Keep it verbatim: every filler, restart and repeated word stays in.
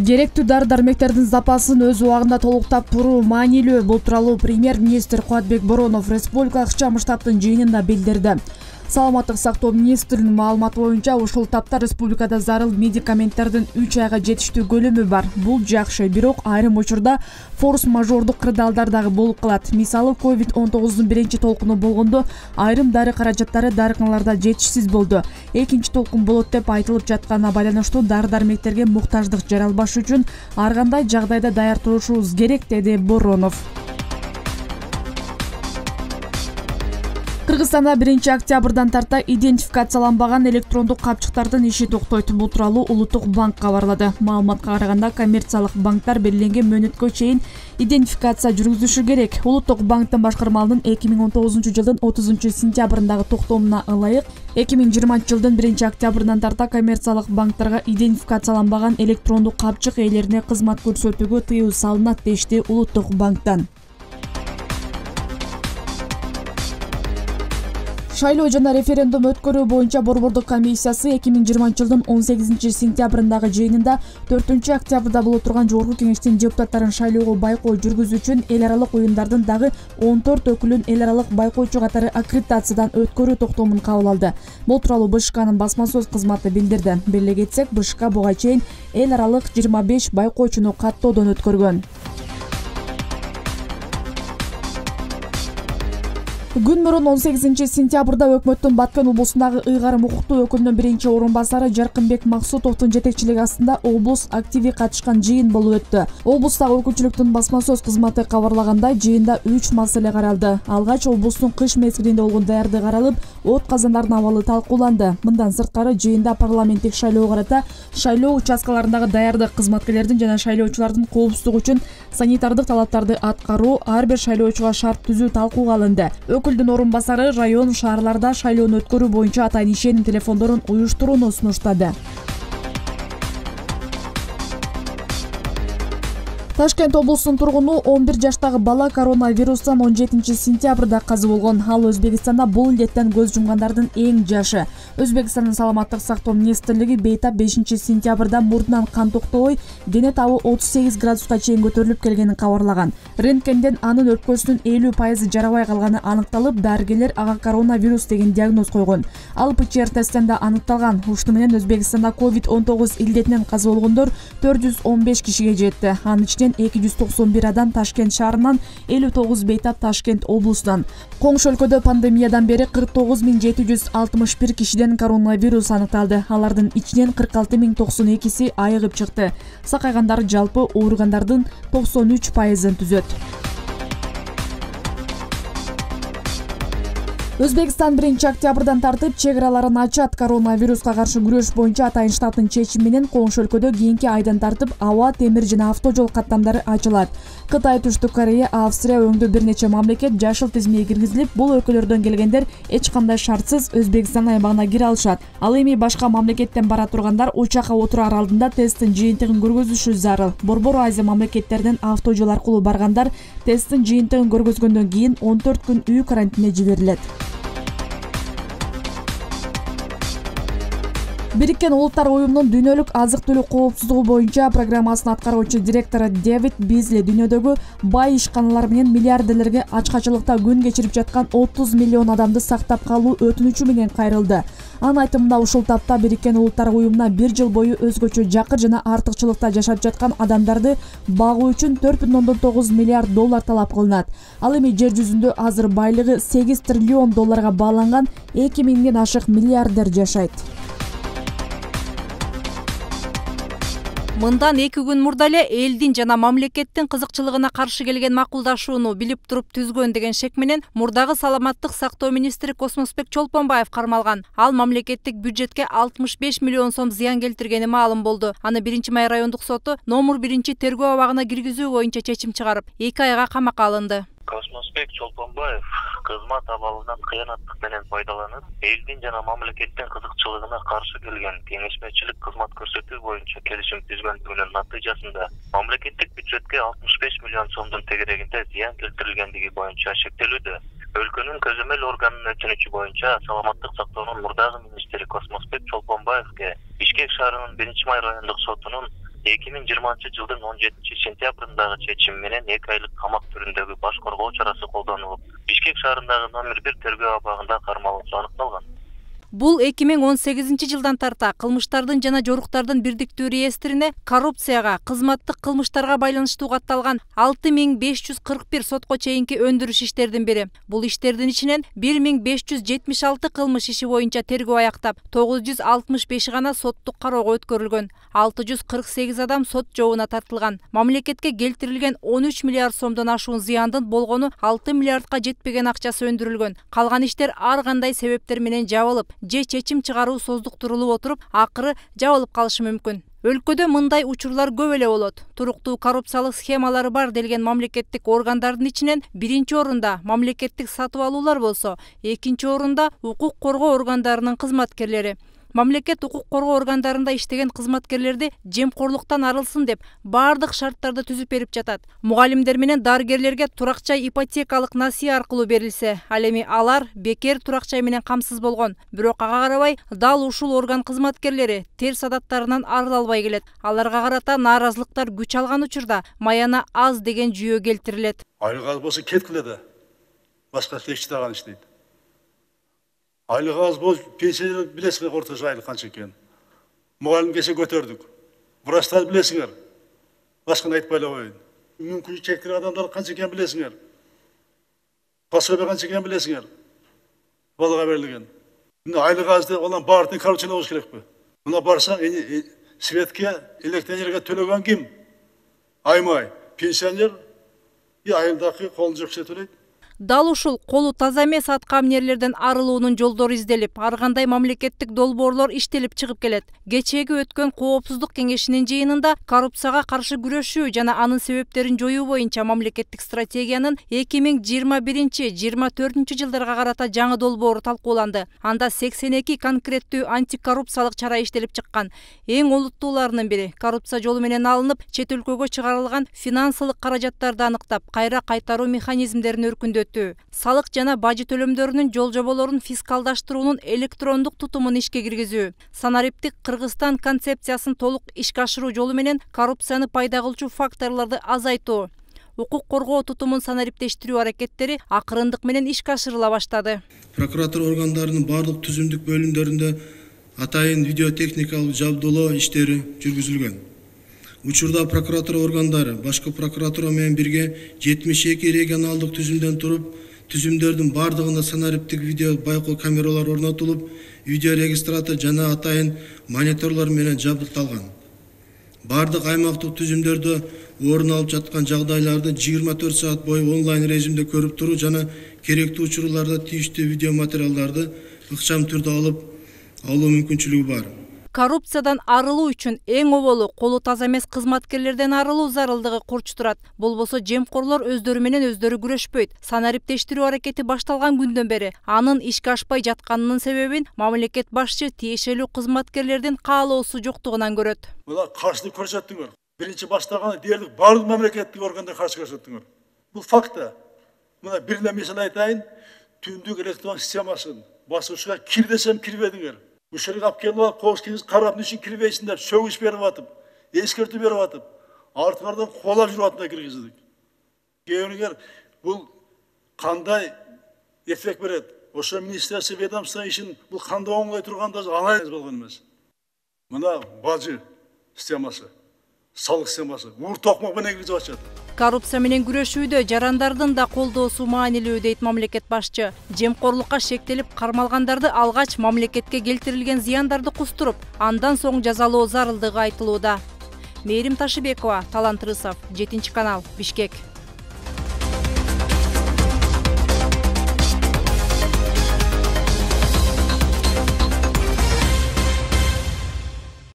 Керектүү дары-дармектердин запасын өз убагында толуктап туруу маанилүү. Бул тууралуу премьер-министр Кубатбек Боронов республикалык чам штабтын жыйынында билдирди. Саламаттык сактоо министринин маалыматы боюнча ушул тапта республикада зарыл медикаменттердин үч айга жетиштүү көлөмү бар. Бул жакшы, бирок айрым учурда форс-мажордук кырдаалдар дагы болуп калат. Мисалы, ковид он тогуздун биринчи толкуну болгондо айрым дары каражаттары дарыканаларда жетишсиз болду. Экинчи толкун болот деп айтылып жатканына байланыштуу дары-дармектерге муктаждык жаралбаш үчүн ар кандай жагдайда даяр турушубуз керек, деди Боронов. Кыргызстанда биринчи октябрдан тарта идентификацияланбаган электрондук капчыктардын иши токтойт. Бул тууралуу Улуттук банк кабарлады. Маалыматка караганда, коммерциялык банктар белгиленген мөөнөткө чейин идентификация жүргүзүшү керек. Улуттук банктын башкармалынын эки миң он тогузунчу жылдын отузунчу сентябрындагы токтомуна ылайык эки миң жыйырманчы жылдын биринчи октябрынан тарта коммерциялык банктарга идентификацияланбаган электрондук капчык ээлерине кызмат көрсөтүүгө тыюу салынат, дешти Улуттук банктан. Шайлоо жана референдум өткөрүү боюнча Борбордук комиссиясы эки миң жыйырманчы жылдын он сегизинчи сентябрындагы жыйынында төртүнчү октябрда боло турган Жогорку Кеңештин депутаттарын шайлоого байкоо жүргүзүү үчүн эл аралык уюмдардын дагы он төрт өкүлүн эл аралык байкоочу катары аккредитациядан өткөрүү токтомун кабыл алды. Бул тууралуу Бэ Ш Кнын басма сөз кызматы билдирди. Беле кетсек, Бэ Ш К буга чейин эл аралык жыйырма беш байкоочуну каттоодон өткөргөн. Күн мурун он сегизинчи сентябрда өкмөттүн Баткен облусундагы ыйгарым укуктуу өкүлүнүн биринчи орун басары Жаркынбек Максутовдун жетекчилиги астында облус активи катышкан жыйын болуп өттү. Облустагы өкүлчүлүктүн басма сөз кызматы кабарлагандай, жыйында үч маселе каралды. Алгач облустун кыш мезгилинде болгон даярдыгы каралып, от казандардын абалы талкууланды. Мындан сырткары, жыйында парламенттик шайлоого карата шайлоо участкаларындагы даярдык, кызматкерлердин жана шайлоочулардын коопсуздугу үчүн санитардык талаптарды аткаруу, ар бир шайлоочуга шарт түзүү талкууга алынды. Өкүлдүн орун басары район, шаарларда шайлоону өткөрүү боюнча атайын ишенин телефондорун уюштурууну сунуштады. Ташкент облусунун тургуну он бир жаштагы бала коронавирустан он жетинчи сентябрда каза болгон. Ал Өзбекстанда бул илдеттен көз жумгандардын эң жашы. Өзбекстандын саламаттык сактоо министрлиги бейтап бешинчи сентябрда мурдунан кан токтобой, дене табы отуз сегиз градуска чейин көтөрүлүп келгенин кабарлаган. Рентгенден анын өпкөсүнүн элүү пайызы жарабай калганы аныкталып, дарыгерлер ага коронавирус деген диагноз койгон. Ал П Ч Р тесттен да аныкталган. Ушуну менен Өзбекстанда ковид он тогуз илдетинен каза болгондор төрт жүз он беш кишиге жетти. Анын ичинен эки жүз токсон бир адам Ташкент шаарынан, элүү тогуз бейтап Ташкент облусунан. Коңшу өлкөдө пандемиядан бери кырк тогуз миң жети жүз алтымыш бир кишиден коронавирус аныкталды. Алардын ичинен кырк алты миң токсон экиси айыгып чыкты. Сакайгандар жалпы ооругандардын токсон үч пайызын түзөт. Өзбекстан биринчи октябрдан тартып чек араларын ачат. Коронавируска каршы күрөш боюнча атайын штабтын чечими менен коңшу өлкөдө кийинки айдан тартып аба, темир жана автожол каттамдары ачылат. Кытай, Түштүк Корея, Австрия өңдө бир нече мамлекет жашыл тизимге киргизилип, бул өлкөлөрдөн келгендер эч кандай шартсыз Өзбекстан аймагына кире алышат. Ал эми башка мамлекеттен бара тургандар учакка отурар алдында тесттин жыйынтыгын көргөзүшү зарыл. Борбор Азия мамлекеттеринен автожол аркылуу баргандар тесттин жыйынтыгын көргөзгөндөн кийин он төрт күн үй карантинине жиберилет. Бириккен Улуттар уюмунун дүйнөлүк азык-түлүк коопсуздугу боюнча программасынын аткаруучу директору Дэвид Бизли дүйнөдөгү бай ишканалар менен миллиардерлерге ачкачылыкта күн кечирип жаткан отуз миллион адамды сактап калуу өтүнүчү менен кайрылды. Анын айтымында, ушул тапта Бириккен Улуттар уюмуна бир жыл бою өзгөчө жакыр жана артыкчылыкта жашап жаткан адамдарды багуу үчүн төрт бүтүн ондон тогуз миллиард доллар талап кылынат. Ал эми жер жүзүндө азыр байлыгы сегиз триллион долларга бааланган эки миңден ашык миллиардер жашайт. Мындан эки күн мурда эле элдин жана мамлекеттин кызыкчылыгына каршы келген макулдашууну билип туруп түзгөн деген шек менен мурдагы саламаттык сактоо министри Космосбек Чолпонбаев кармалган. Ал мамлекеттик бюджетке алтымыш беш миллион сом зыян келтиргени маалым болду. Аны биринчи май райондук соту номер биринчи тергөө абагына киргизүү боюнча чечим чыгарып, эки айга камакка алынды. Космосбек Чолпонбаев кызмат абалынан кыянаттык менен пайдаланып, элдин жана мамлекеттин кызыкчылыгына каршы келген кеңешмечилик кызмат көрсөтүү боюнча келишим түзгөндүгүнүн натыйжасында мамлекеттик бюджетке алтымыш беш миллион сомдун тегерегинде зыян келтирилгендиги боюнча шектелүүдө. Өлкөнүн көзөмөл органынын өтүнүчү боюнча саламаттык сактоонун мурдагы министри Космосбек Чолпонбаевге Бишкек шаарынын биринчи май райондук сотунун эки миң жыйырманчы жылдын он жетинчи сентябрындагы чечим менен эки айлык камак түрүндөгү баш коргоо чарасы колдонулуп, Бишкек шаарындагы номер бир тергөө абагында кармалуусу аныкталган. Бул эки миң он сегизинчи жылдан тарта кылмыштардын жана жоруктардын бирдиктүү реестрине коррупцияга, кызматтык кылмыштарга байланыштуу катталган алты миң беш жүз кырк бир сотко чейинки өндүрүш иштердин бири. Бул иштердин ичинен бир миң беш жүз жетимиш алты кылмыш иши боюнча тергөө аяктап, тогуз жүз алтымыш беши гана соттук кароого өткөрүлгөн. алты жүз кырк сегиз адам сот жообуна тартылган. Мамлекетке келтирилген он үч миллиард сомдон ашуун зыяндын болгону алты миллиардка жетпеген акчасы өндүрүлгөн. Калган иштер ар кандай себептер менен жабылып, же чечим чыгаруу создуктурулуп отуруп, акыры жабылып калышы мүмкүн. Өлкөдө мындай учурлар көп эле болот. Туруктуу коррупциялык схемалары бар делген мамлекеттик органдардын ичинен биринчи орунда мамлекеттик сатып алуулар болсо, экинчи орунда укук коргоо органдарынын кызматкерлери. Мамлекет укук коргоо органдарында иштеген кызматкерлерди жемкорлуктан арылсын деп бардык шарттарды түзүп берип жатат. Мугалимдер менен дарыгерлерге туракчай ипотекалык насыя аркылуу берилсе, ал эми алар бекер туракчай менен камсыз болгон. Бирок ага карабай дал ушул орган кызматкерлери терс адаттарынан арыла албай келет. Аларга карата нааразылыктар күч алган учурда маяна аз деген жүйө келтирилет. Айлык аз болсо кеткиле да. Башка эч таган иштейт. Айлык аз бол, пенсия билесиңер орточо айлык канча экен. Мугалим кеше көтөрдүк. Врачтар билесиңер. Башканы айтпай эле коеюн. Мүмкүнчүлүгү чектелген адамдар канча экен билесиңер. Пособие канча экен билесиңер. Балага берилген. Мына айлык аз деп олар баардыгын коррупциялоо болуш керекпи? Мына барсаң, светке, электроэнергияга төлөгөн ким? Аймай, пенсионер, и айылдагы колун жок киши төлөйт. Дал ушул колу таза эмес аткаминерлерден арылуунун жолдору изделип, ар кандай мамлекеттик долбоорлор иштелип чыгып келет. Кечээги өткөн коопсуздук кеңешинин жыйынында коррупцияга каршы күрөшүү жана анын себептерин жоюу боюнча мамлекеттик стратегиянын эки миң жыйырма биринчи — жыйырма төртүнчү жылдарга карата жаңы долбоору талкууланды. Анда сексен эки конкреттүү антикоррупциялык чара иштелип чыккан. Эң олуттууларынын бири коррупция жолу менен алынып, чет өлкөгө чыгарылган финансылык каражаттарды аныктап, кайра кайтаруу механизмдерин өркүндөтүү. Салык жана бажы төлөмдөрүнүн жол жоболорун фискалдаштыруунун электрондук тутумун ишке киргизүү. Санариптик Кыргызстан концепциясын толук ишке ашыруу жолу менен коррупцияны пайда кылчу факторлорду азайтуу. Укук коргоо тутумун санариптештирүү аракеттери акырындык менен ишке ашырыла баштады. Прокуратура органдарынын бардык түзүмдүк бөлүмдөрүндө атайын видеотехникалык жабдуулоо иштери жүргүзүлгөн. Учурда прокуратура органдары башкы прокуратура менен бирге жетимиш эки регионалдык түзүмдөн туруп, түзүмдөрдүн бардыгында санариптик видео байкоо камералары орнотулуп, видео регистратор жана атайын мониторлор менен жабдыкталган. Бардык аймактык түзүмдөрдө орун алып жаткан жагдайларды жыйырма төрт саат бою онлайн режимде көрүп туруу жана керектүү учурларда тийиштүү видео материалдарды ыкчам түрдө алып алуу мүмкүнчүлүгү бар. Коррупциядан арылуу үчүн эң оболу колу таза эмес кызматкерлерден арылуу зарылдыгы курч турат. Болбосо жемкорлор өздөрү менен өздөрү күрөшпөйт. Санариптештирүү аракети башталган күндөн бери анын ишке ашпай жатканынын себебин мамлекет башчы тиешелүү кызматкерлердин каалоосу жоктугунан көрөт. Булар каршылык көрсөттүңөр. Биринчи баштаган дээрлик бардык мамлекеттик органдар каршы көрсөттүңөр. Бул факт да. Мына бир эле мисал айтайын, түндүк электрон системасын басуучуга кир десем кирбедиңер. Ушерге алып келип алып, коопсуздук карап ничек кирбейсиң деп сөгүш берип атып, эскертүү берип атып, артыңардан кубалап жүрүп атып киргиздик. Кийинкилер бул кандай эффект берет? Ошо министерство ведомство ишин бул кандай оңой турганда анализ болгон эмес. Мына бажы системасы, салык системасы ур токмок менен киргизип атышат. Коррупция менен күрөшүүдө жарандардын да колдоосу маанилүү дейт мамлекет башчы. Жемкорлукка шектелип кармалгандарды алгач мамлекетке келтирилген зыяндарды кустуруп, андан соң жазалоо зарылдыгы айтылууда. Мээрим Ташыбекова, Талант Рысов, жетинчи канал, Бишкек.